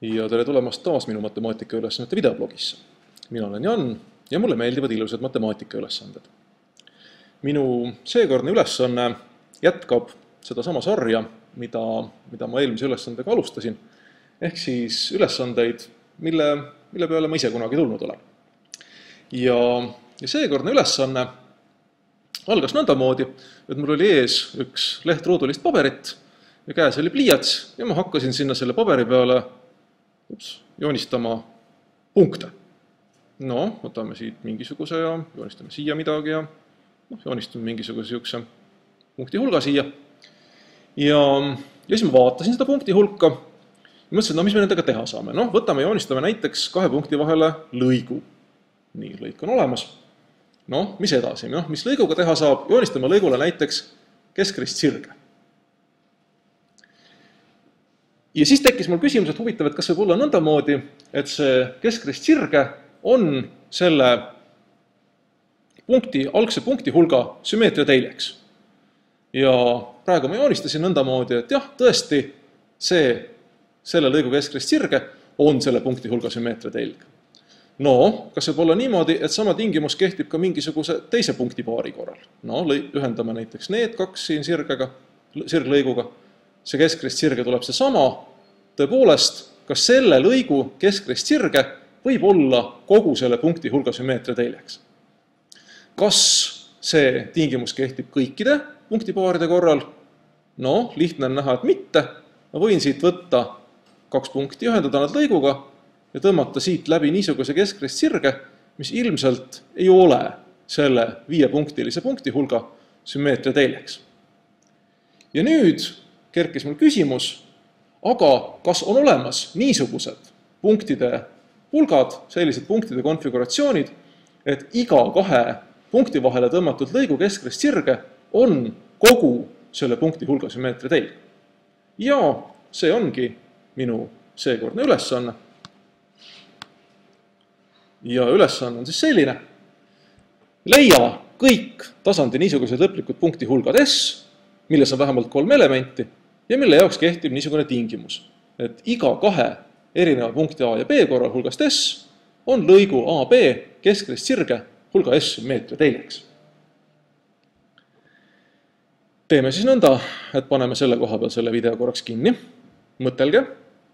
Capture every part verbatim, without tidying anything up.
Ja tere tulemast taas minu matemaatikaülesannete videoblogisse. Mina olen Jan ja mulle meeldivad ilusad matemaatikaülesanded. Minu seekordne ülesanne jätkab seda sama sarja, mida, mida ma eelmise ülesandega alustasin, ehk siis ülesandeid, mille, mille peale ma ise kunagi tulnud olen. Ja, ja seekordne ülesanne algas nõndamoodi, et mul oli ees üks leht ruudulist paberit ja käes oli pliiats ja ma hakkasin sinna selle paberi peale ups, joonistama punkte. No, võtame siit mingisuguse ja joonistame siia midagi ja no, joonistame mingisuguse siukse punkti hulga siia. Ja, ja siis ma vaatasin seda punkti hulka ja mõtlesin, no mis me nendega teha saame. No, võtame ja joonistame näiteks kahe punkti vahele lõigu. Nii, lõik on olemas. No, mis edasi? No, mis lõiguga teha saab? Joonistame lõigule näiteks keskrist sirge. Ja siis tekkis mul küsimus, et huvitav, et kas võib olla nõndamoodi, et see keskrist sirge on selle punkti, algse punkti hulga sümmeetria teljeks. Ja praegu ma joonistasin nõndamoodi, et jah, tõesti see, selle lõigu keskrist sirge on selle punkti hulga sümmeetria telg. No, kas võib olla niimoodi, et sama tingimus kehtib ka mingisuguse teise punkti paari korral? No, ühendame näiteks need kaks siin sirgega, sirglõiguga. See keskrist sirge tuleb see sama, tõepoolest, kas selle lõigu keskrist sirge võib olla kogu selle punkti hulga sümmeetria teljeks. Kas see tingimus kehtib kõikide punktipaaride korral? No, lihtne on näha, et mitte. Ma võin siit võtta kaks punkti, ühendada nad lõiguga ja tõmmata siit läbi niisuguse keskrist sirge, mis ilmselt ei ole selle viiepunktilise punkti hulga sümmeetria teljeks. Ja nüüd kerkis mul küsimus, aga kas on olemas niisugused punktide hulgad, sellised punktide konfiguratsioonid, et iga kahe punkti vahele tõmmatud lõigu keskrist sirge on kogu selle punkti hulga sümmeetria telg. Ja see ongi minu seekordne ülesanne. Ja ülesanne on siis selline. Leia kõik tasandi niisugused lõplikud punkti hulgad S, milles on vähemalt kolm elementi, ja mille jaoks kehtib niisugune tingimus, et iga kahe erineva punkti A ja B korral hulgast S on lõigu A B keskrist sirge hulga S sümmeetria teljeks. Teeme siis nõnda, et paneme selle koha peal selle video korraks kinni. Mõtelge,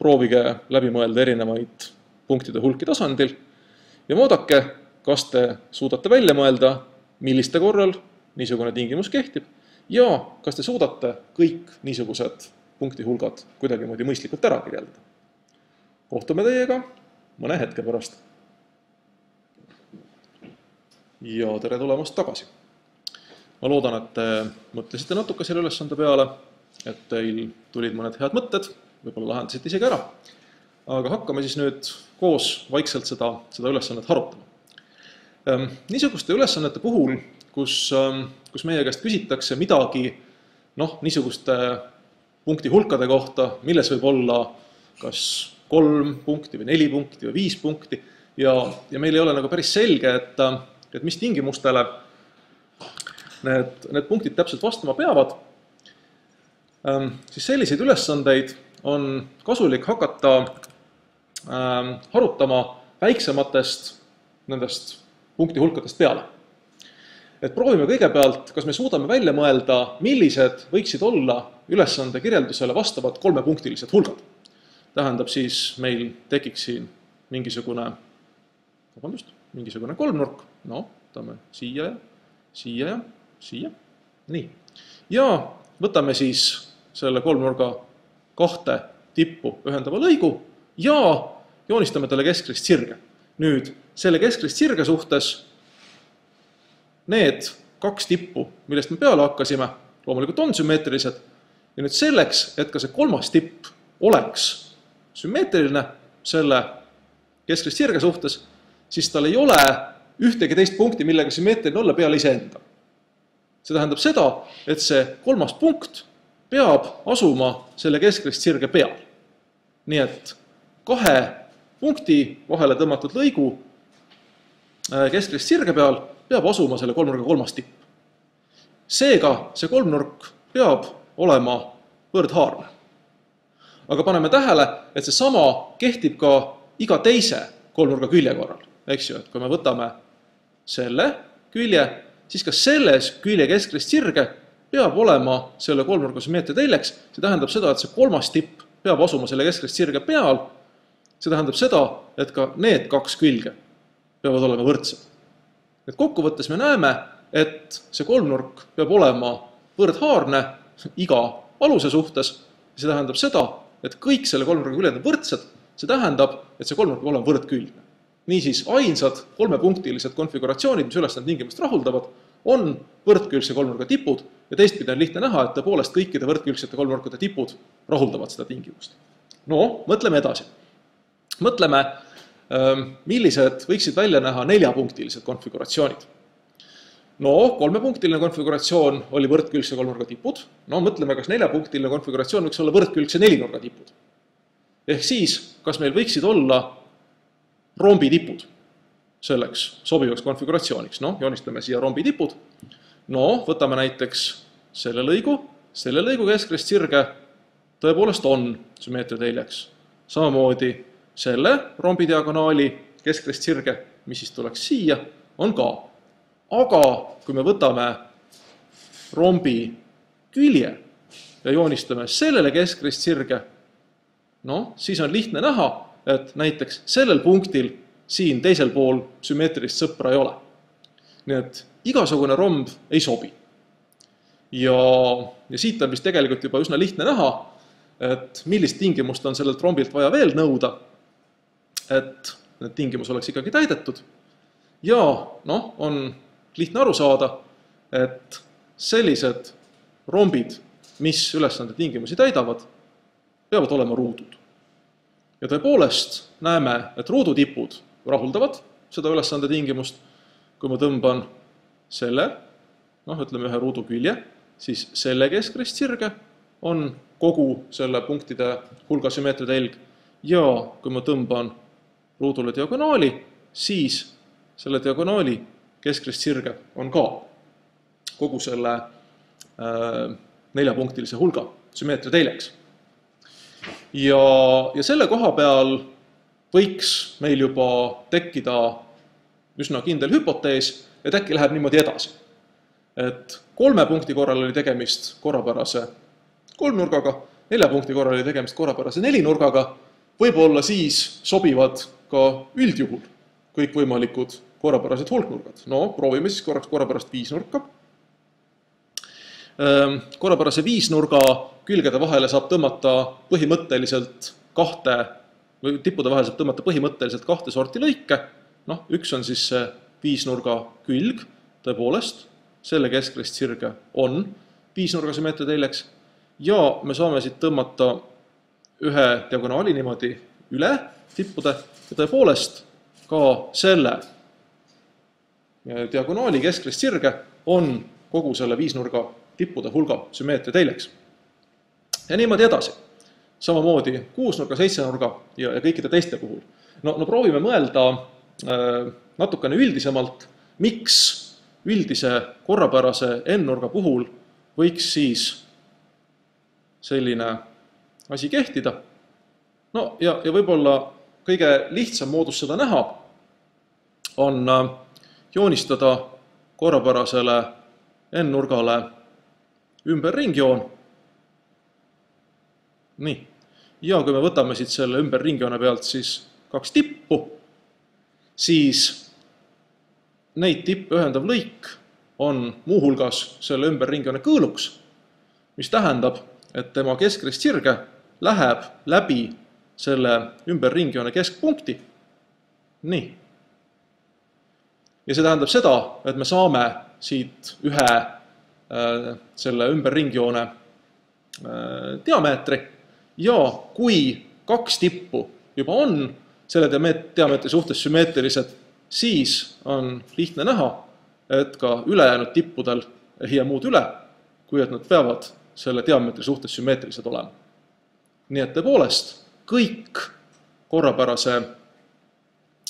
proovige läbi mõelda erinevaid punktide hulki tasandil ja vaadake, kas te suudate välja mõelda, milliste korral niisugune tingimus kehtib ja kas te suudate kõik niisugused punkti hulgad kuidagimoodi mõistlikult ära kirjeldada. Kohtume teiega mõne hetke pärast. Ja tere tulemast tagasi. Ma loodan, et te mõtlesite natuke selle ülesande peale, et teil tulid mõned head mõtted, võib-olla lahendasite isegi ära. Aga hakkame siis nüüd koos vaikselt seda, seda ülesannet harutama. Niisuguste ülesannete puhul, kus, kus meie käest küsitakse midagi noh, niisuguste punkti hulkade kohta, milles võib olla kas kolm punkti või neli punkti või viis punkti ja, ja meil ei ole nagu päris selge, et, et mis tingimustele need, need punktid täpselt vastama peavad, siis selliseid ülesandeid on kasulik hakata ähm, harutama väiksematest nendest punkti hulkadest peale. Et proovime kõigepealt, kas me suudame välja mõelda, millised võiksid olla ülesande kirjeldusele vastavad kolmepunktilised hulgad. Tähendab siis, meil tekiks siin mingisugune, vabandust, mingisugune kolmnurk. No, võtame siia ja siia ja siia. Nii. Ja võtame siis selle kolmnurga kahte tippu ühendava lõigu ja joonistame talle keskrist sirge. Nüüd, selle keskrist sirge suhtes need kaks tippu, millest me peale hakkasime, loomulikult on sümmeetrilised. Ja nüüd selleks, et ka see kolmas tipp oleks sümmeetriline selle keskrist sirge suhtes, siis tal ei ole ühtegi teist punkti, millega sümmeetriline olla peale iseenda. See tähendab seda, et see kolmas punkt peab asuma selle keskrist sirge peal. Nii et kahe punkti vahele tõmmatud lõigu keskrist sirge peal peab asuma selle kolmnurga kolmas tipp. Seega see kolmnurk peab olema võrdhaarne. aga paneme tähele, et see sama kehtib ka iga teise kolmnurga külje korral. Eks ju, et kui me võtame selle külje, siis ka selles külje keskrist sirge peab olema selle kolmnurga sümmeetria teljeks. See tähendab seda, et see kolmas tipp peab asuma selle keskrist sirge peal. See tähendab seda, et ka need kaks külge peavad olema võrdsed. Et kokkuvõttes me näeme, et see kolmnurk peab olema võrdhaarne iga aluse suhtes. See tähendab seda, et kõik selle kolmnurga küljed on võrdsed. See tähendab, et see kolmnurk peab olema võrdkülgne. Niisiis ainsad kolmepunktilised konfiguratsioonid, mis ülesande tingimust rahuldavad, on võrdkülgse kolmnurga tipud ja teistpidi on lihtne näha, et tõepoolest kõikide võrdkülgsete kolmnurkade tipud rahuldavad seda tingimust. No, mõtleme edasi. Mõtleme, millised võiksid välja näha neljapunktilised konfiguratsioonid. No, kolmepunktiline konfiguratsioon oli võrdkülgse kolmnurga tipud. No, mõtleme, kas neljapunktiline konfiguratsioon võiks olla võrdkülgse nelinurga tipud. Ehk siis, kas meil võiksid olla rombitipud selleks sobivaks konfiguratsiooniks. No, joonistame siia rombitipud. No, võtame näiteks selle lõigu. Selle lõigu keskrist sirge tõepoolest on sümmeetria teljeks. Samamoodi selle rombidiagonaali keskrist sirge, mis siis tuleks siia, on ka. Aga kui me võtame rombi külje ja joonistame sellele keskrist sirge, no, siis on lihtne näha, et näiteks sellel punktil siin teisel pool sümmeetrilist sõpra ei ole. Nii et igasugune romb ei sobi. Ja, ja siit on vist tegelikult juba üsna lihtne näha, et millist tingimust on sellelt rombilt vaja veel nõuda, et need tingimus oleks ikkagi täidetud. Ja noh, on lihtne aru saada, et sellised rombid, mis ülesande tingimusi täidavad, peavad olema ruudud. Ja tõepoolest näeme, et ruudutipud rahuldavad seda ülesande tingimust. Kui ma tõmban selle, noh, ütleme ühe ruudu külje, siis selle keskrist sirge on kogu selle punktide hulga sümmeetria telg. Ja kui ma tõmban ruudule diagonaali, siis selle diagonaali keskrist sirge on ka kogu selle äh, neljapunktilise hulga sümmeetria teljeks. Ja, ja selle koha peal võiks meil juba tekkida üsna kindel hüpotees, et äkki läheb niimoodi edasi. Et kolme punkti korral oli tegemist korrapärase kolmnurgaga, nelja punkti korral oli tegemist korrapärase nelinurgaga, võib-olla siis sobivad ka üldjuhul kõik võimalikud korrapärased hulknurgad. No, proovime siis korraks korrapärast viisnurka. Korrapärase viisnurga külgede vahele saab tõmmata põhimõtteliselt kahte, või tippude vahele saab tõmmata põhimõtteliselt kahte sorti lõike. Noh, üks on siis see viisnurga külg, tõepoolest, selle keskrist sirge on viisnurga sümmeetria teljeks, ja me saame siit tõmmata ühe diagonaali niimoodi üle tippude, ja tõepoolest ka selle diagonaali keskrist sirge on kogu selle viisnurga tippude hulga sümmeetria teljeks. Ja niimoodi edasi. Samamoodi kuusnurga, seitsenurga ja, ja kõikide teiste puhul. No, no proovime mõelda äh, natukene üldisemalt, miks üldise korrapärase n-nurga puhul võiks siis selline asi kehtida. No ja, ja võib-olla kõige lihtsam moodus seda näha on äh, joonistada korrapärasele n-nurgale ümber ringjoon. Nii. Ja kui me võtame siit selle ümber ringjoone pealt siis kaks tippu, siis neid tippe ühendav lõik on muuhulgas selle ümber ringjoone kõõluks, mis tähendab, et tema keskrist sirge läheb läbi selle ümber ringjoone keskpunkti. Nii. Ja see tähendab seda, et me saame siit ühe äh, selle ümber ringjoone äh, diameetri, ja kui kaks tippu juba on selle diameetri suhtes sümmeetrilised, siis on lihtne näha, et ka ülejäänud tippudel ei jää muud üle, kui et nad peavad selle diameetri suhtes sümmeetrilised olema. Nii et tõepoolest kõik, korrapärase,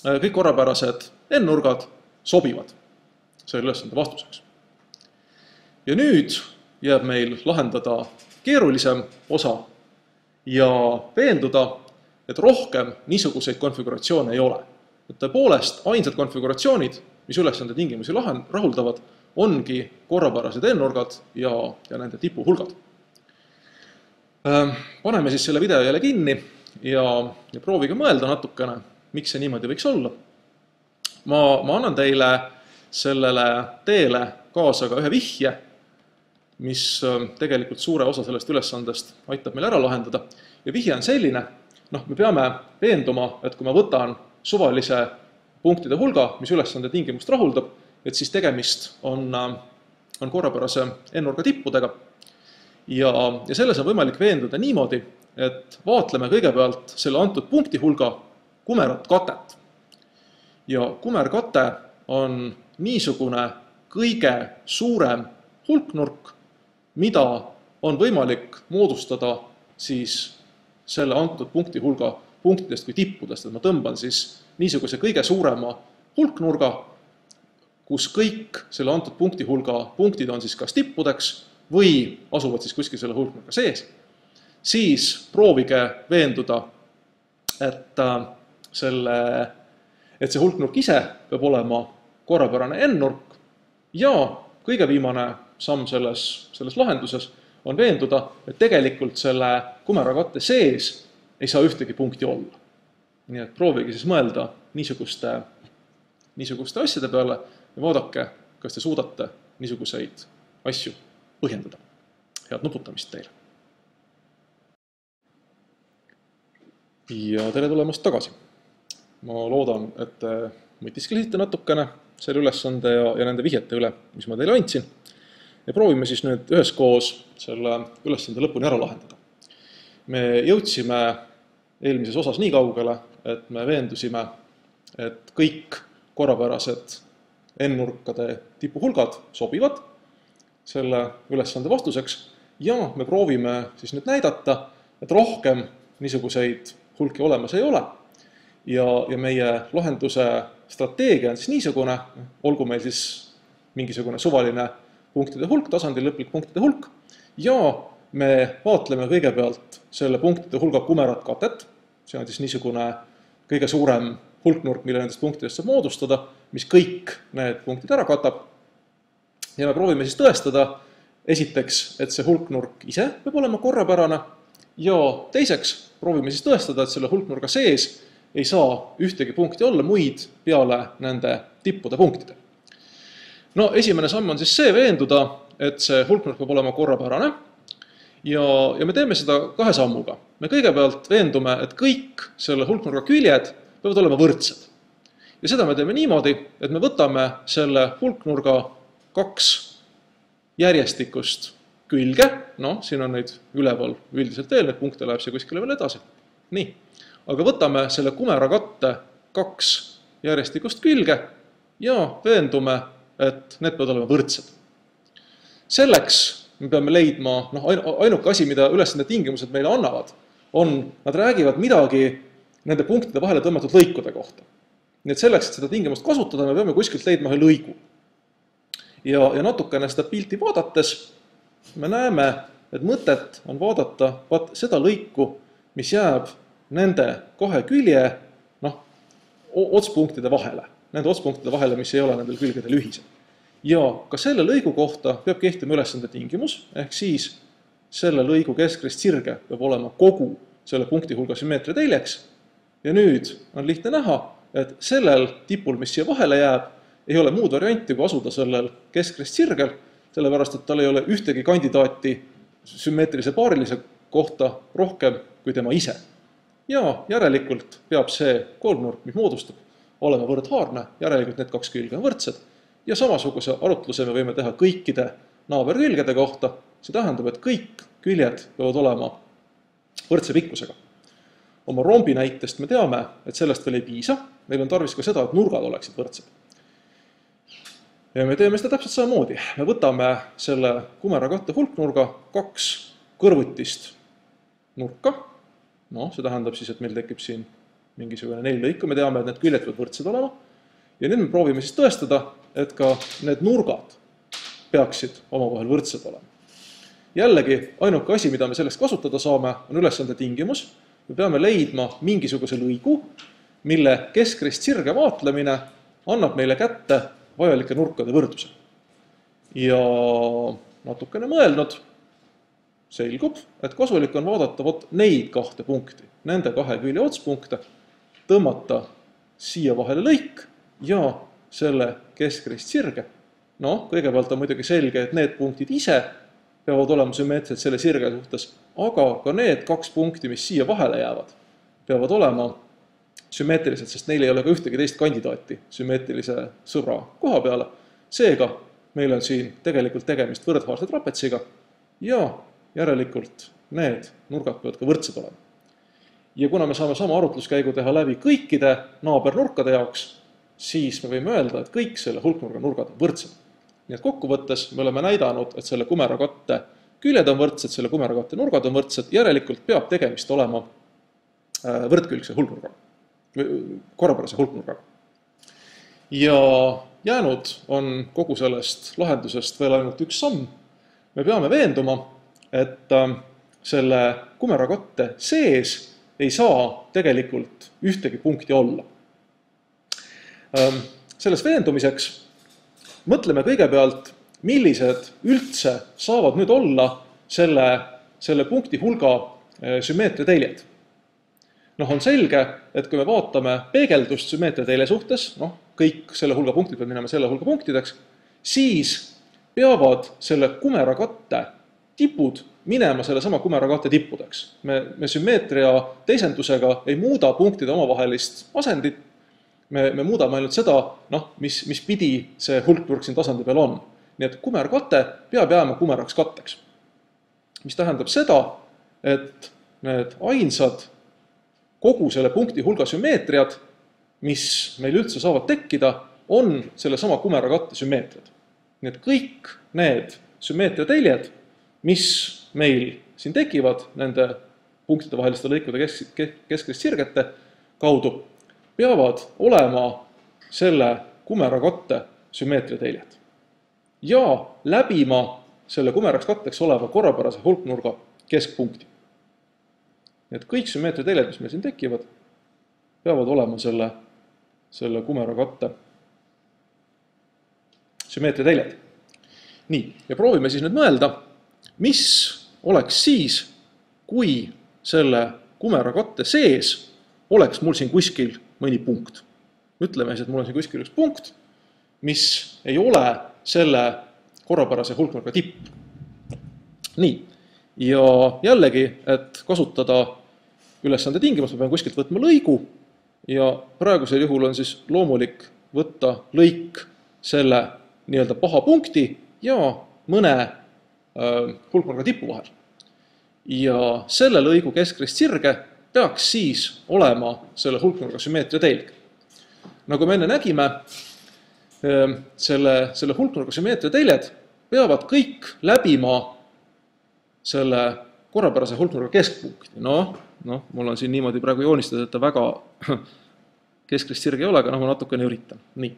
kõik korrapärased n-nurgad sobivad selle ülesande vastuseks. Ja nüüd jääb meil lahendada keerulisem osa, ja veenduda, et rohkem niisuguseid konfiguratsioone ei ole. Et tõepoolest, ainsad konfiguratsioonid, mis ülesande tingimusi rahuldavad, ongi korrapärased n-nurgad ja, ja nende tipuhulgad. Paneme siis selle video jälle kinni ja, ja proovige mõelda natukene, miks see niimoodi võiks olla. Ma, ma annan teile sellele teele kaasa ka ühe vihje, mis tegelikult suure osa sellest ülesandest aitab meil ära lahendada. Ja vihje on selline, noh, me peame veenduma, et kui ma võtan suvalise punktide hulga, mis ülesande tingimust rahuldab, et siis tegemist on, on korrapärase n-nurga tippudega. Ja, ja selles on võimalik veenduda niimoodi, et vaatleme kõigepealt selle antud punkti hulga kumerat katet. Ja kumerkate on niisugune kõige suurem hulknurk, mida on võimalik moodustada siis selle antud punkti hulga punktidest kui tippudest. Et ma tõmban siis niisuguse kõige suurema hulknurga, kus kõik selle antud punkti hulga punktid on siis kas tippudeks või asuvad siis kuskil selle hulknurga sees. Siis proovige veenduda, et, selle, et see hulknurk ise peab olema korrapärane n-nurk ja kõige viimane samm selles, selles lahenduses on veenduda, et tegelikult selle kumerakatte sees ei saa ühtegi punkti olla. Nii et proovige siis mõelda niisuguste, niisuguste asjade peale ja vaadake, kas te suudate niisuguseid asju põhjendada. Head nuputamist teile! Ja tere tulemast tagasi! Ma loodan, et te mõtisklesite natukene selle ülesande ja, ja nende vihjete üle, mis ma teile andsin. Ja proovime siis nüüd üheskoos selle ülesande lõpuni ära lahendada. Me jõudsime eelmises osas nii kaugele, et me veendusime, et kõik korrapärased n-nurkade tipuhulgad sobivad selle ülesande vastuseks ja me proovime siis nüüd näidata, et rohkem niisuguseid hulki olemas ei ole. Ja, ja meie lahenduse strateegia on siis niisugune, olgu meil siis mingisugune suvaline punktide hulk, tasandil lõplik punktide hulk ja me vaatleme kõigepealt selle punktide hulga kumerat katet, see on siis niisugune kõige suurem hulknurk, mille nendest punktidest saab moodustada, mis kõik need punktid ära katab. Ja me proovime siis tõestada esiteks, et see hulknurk ise peab olema korrapärane ja teiseks proovime siis tõestada, et selle hulknurga sees ei saa ühtegi punkti olla muid peale nende tippude punktide. No esimene samm on siis see veenduda, et see hulknurk peab olema korrapärane ja, ja me teeme seda kahe sammuga. Me kõigepealt veendume, et kõik selle hulknurga küljed peavad olema võrdsed. Ja seda me teeme niimoodi, et me võtame selle hulknurga kaks järjestikust külge, noh, siin on neid üleval üldiselt veel, need punkte läheb see kuskile veel edasi. Nii, aga võtame selle kumerakatte kaks järjestikust külge ja veendume, et need peavad olema võrdsed. Selleks me peame leidma, noh, ainuke asi, mida ülesande tingimused meile annavad, on, nad räägivad midagi nende punktide vahele tõmmatud lõikude kohta. Nii et selleks, et seda tingimust kasutada, me peame kuskilt leidma ühe lõigu. Ja, ja natukene seda pilti vaadates me näeme, et mõtet on vaadata vaat seda lõiku, mis jääb nende kahe külje noh, otspunktide vahele. Nende otspunktide vahele, mis ei ole nendel külgedel ühised. Ja ka selle lõigu kohta peab kehtima ülesande tingimus, ehk siis selle lõigu keskrist sirge peab olema kogu selle punkti hulga sümmeetria teljeks. Ja nüüd on lihtne näha, et sellel tipul, mis siia vahele jääb, ei ole muud varianti, kui asuda sellel keskrist sirgel, sellepärast, et tal ei ole ühtegi kandidaati sümmeetrilise paarilise kohta rohkem kui tema ise. Ja järelikult peab see kolmnurk, mis moodustab, olema võrdhaarne, järelikult need kaks külge on võrdsed. Ja samasuguse arutluse me võime teha kõikide naaberkülgede kohta. See tähendab, et kõik küljed peavad olema võrdse pikkusega. Oma rombi näitest me teame, et sellest veel ei piisa. Meil on tarvis ka seda, et nurgad oleksid võrdsed. Ja me teeme seda täpselt samamoodi. Me võtame selle kumerakatte hulknurga kaks kõrvutist nurka. No, see tähendab siis, et meil tekib siin mingisugune neli lõiku. Me teame, et need küljed peavad võrdsed olema. Ja nüüd me proovime siis tõestada, et ka need nurgad peaksid omavahel võrdsed olema. jällegi ainuke asi, mida me selleks kasutada saame, on ülesande tingimus. Me peame leidma mingisuguse lõigu, mille keskrist sirge vaatlemine annab meile kätte vajalike nurkade võrdluse. Ja natukene mõelnud selgub, et kasulik on vaadata vot neid kahte punkti, nende kahe külje otspunkte, tõmmata siia vahele lõik ja selle keskrist sirge. No, kõigepealt on muidugi selge, et need punktid ise peavad olema sümmeetrised selle sirge suhtes, aga ka need kaks punkti, mis siia vahele jäävad, peavad olema sümmeetrilised, sest neil ei ole ka ühtegi teist kandidaati sümmeetrilise sõbra koha peale. Seega meil on siin tegelikult tegemist võrdhaarse trapetsiga ja järelikult need nurgad peavad ka võrdsed olema. Ja kuna me saame sama arutluskäigu teha läbi kõikide naabernurkade jaoks, siis me võime öelda, et kõik selle hulknurga nurgad on võrdsed. Nii et kokkuvõttes me oleme näidanud, et selle kumerakatte küljed on võrdsed, selle kumerakatte nurgad on võrdsed, järelikult peab tegemist olema võrdkülgse hulknurgaga, korrapärase hulknurgaga. Ja jäänud on kogu sellest lahendusest veel ainult üks samm. Me peame veenduma, et selle kumerakatte sees ei saa tegelikult ühtegi punkti olla. Selles veendumiseks mõtleme kõigepealt, millised üldse saavad nüüd olla selle, selle punkti hulga sümmeetria teljed. Noh, on selge, et kui me vaatame peegeldust sümmeetria telje suhtes, noh, kõik selle hulga punktid peavad minema selle hulga punktideks, siis peavad selle kumerakatte tipud minema selle sama kumerakatte tippudeks. Me, me sümmeetria teisendusega ei muuda punktide omavahelist asendit, me, me muudame ainult seda, noh, mis, mis pidi see hulknurk siin tasandi peal on. Nii et kumerkate peab jääma kumeraks katteks. Mis tähendab seda, et need ainsad kogu selle punkti hulga sümmeetriad, mis meil üldse saavad tekkida, on selle sama kumerakatte sümmeetriad. Nii et kõik need sümmeetria teljed, mis meil siin tekivad nende punktide vaheliste lõikude keskrist sirgete kaudu, peavad olema selle kumerakatte sümmeetria teljed ja läbima selle kumeraks katteks oleva korrapärase hulknurga keskpunkti. Nii et kõik sümmeetria teljed, mis meil siin tekivad, peavad olema selle, selle kumerakatte sümmeetria teljed. Nii, ja proovime siis nüüd mõelda, mis oleks siis, kui selle kumerakatte sees oleks mul siin kuskil mõni punkt. Ütleme siis, et mul on siin kuskil üks punkt, mis ei ole selle korrapärase hulknurga tipp. Nii, ja jällegi, et kasutada ülesande tingimust, me peame kuskilt võtma lõigu ja praegusel juhul on siis loomulik võtta lõik selle nii-öelda paha punkti ja mõne äh, hulknurga tipu vahel. Ja selle lõigu keskrist sirge peaks siis olema selle hulknurga sümmeetria telg. Nagu me enne nägime, selle, selle hulknurga sümmeetria teljed peavad kõik läbima selle korrapärase hulknurga keskpunkti. Noh, noh, mul on siin niimoodi praegu joonistada, et ta väga keskrist sirge ei ole, aga noh, ma natukene üritan. Nii.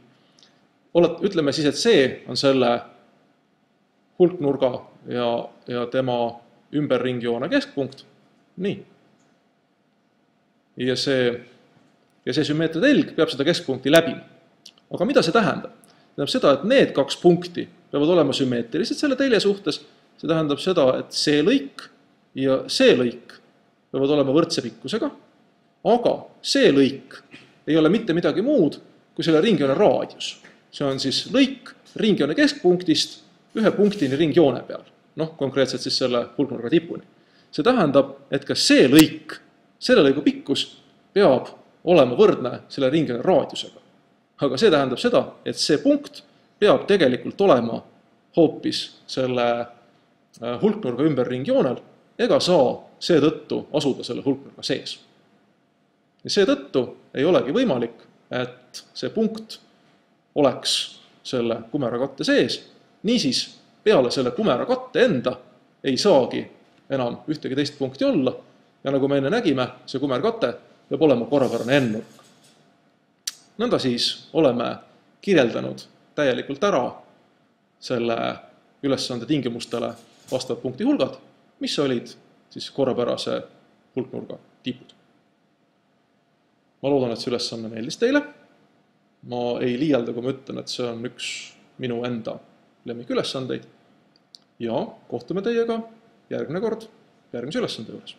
Ütleme siis, et see on selle hulknurga ja, ja tema ümberringjoone keskpunkt. Nii. Ja see, ja see sümmeetria telg peab seda keskpunkti läbima. Aga mida see tähendab? See tähendab seda, et need kaks punkti peavad olema sümmeetrilised selle telje suhtes. See tähendab seda, et see lõik ja see lõik peavad olema võrdse pikkusega, aga see lõik ei ole mitte midagi muud kui selle ringjoone raadius. See on siis lõik ringjoone keskpunktist ühe punktini ringjoone peal. Noh, konkreetselt siis selle hulknurga tipuni. See tähendab, et ka see lõik, selle lõigu pikkus peab olema võrdne selle ringjoone raadiusega. Aga see tähendab seda, et see punkt peab tegelikult olema hoopis selle hulknurga ümber ringjoonel ega saa seetõttu asuda selle hulknurga sees. Ja seetõttu ei olegi võimalik, et see punkt oleks selle kumerakatte sees. Niisiis, peale selle kumerakatte enda ei saagi enam ühtegi teist punkti olla ja nagu me enne nägime, see kumerkate peab olema korrapärane n-nurk. Nõnda siis oleme kirjeldanud täielikult ära selle ülesande tingimustele vastavad punkti hulgad, mis olid siis korrapärase hulknurga tipud. Ma loodan, et see ülesanne meeldis teile. Ma ei liialda, kui ma ütlen, et see on üks minu enda lemmikülesandeid. Ja kohtume teiega järgmine kord järgmise ülesande juures.